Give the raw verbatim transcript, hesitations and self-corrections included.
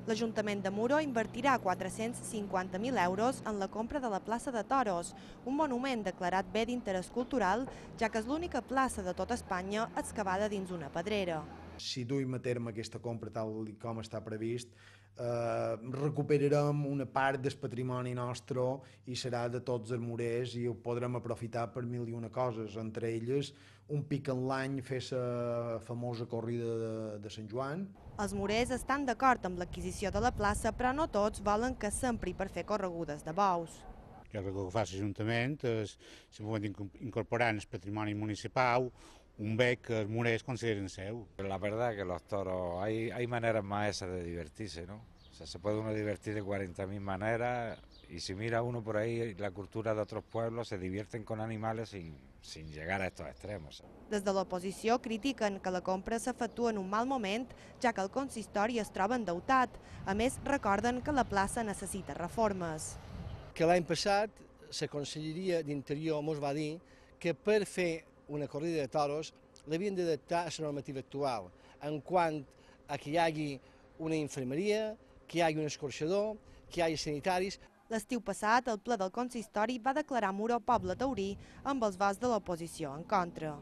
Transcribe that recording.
L'Ajuntament de Muro invertirà quatre-cents cinquanta mil euros en la compra de la plaça de Toros, un monument declarat bé d'interès cultural, ja que és l'única plaça de tota Espanya excavada dins una pedrera. Si duim a terme aquesta compra tal com està previst, eh, recuperarem una part del patrimoni nostre i serà de tots els murers i ho podrem aprofitar per mil i una coses, entre elles un pic en l'any fer la famosa corrida de, de Sant Joan. Els murers estan d'acord amb l'adquisició de la plaça, però no tots volen que s'empri per fer corregudes de bous. Jo crec que el que fa l'Ajuntament és simplement incorporar en el patrimoni municipal un bé que els murers consideren seu. La verdad que los toros, hay, hay maneras más esas de divertirse, ¿no? O sea, se puede uno divertir de cuarenta mil maneras y si mira uno por ahí la cultura de otros pueblos se divierten con animales sin, sin llegar a estos extremos. Des de l'oposició critiquen que la compra s'efectua en un mal moment, ja que el consistori es troba endeutat. A més, recorden que la plaça necessita reformes. Que l'any passat la Conselleria d'Interior ens va dir que per fer una corrida de toros l'havien d'adaptar a la normativa actual, en quant a que hi hagi una infermeria, que hi hagi un escorxador, que hi hagi sanitaris. L'estiu passat, el ple del consistori va declarar Muro poble taurí amb els vots de l'oposició en contra.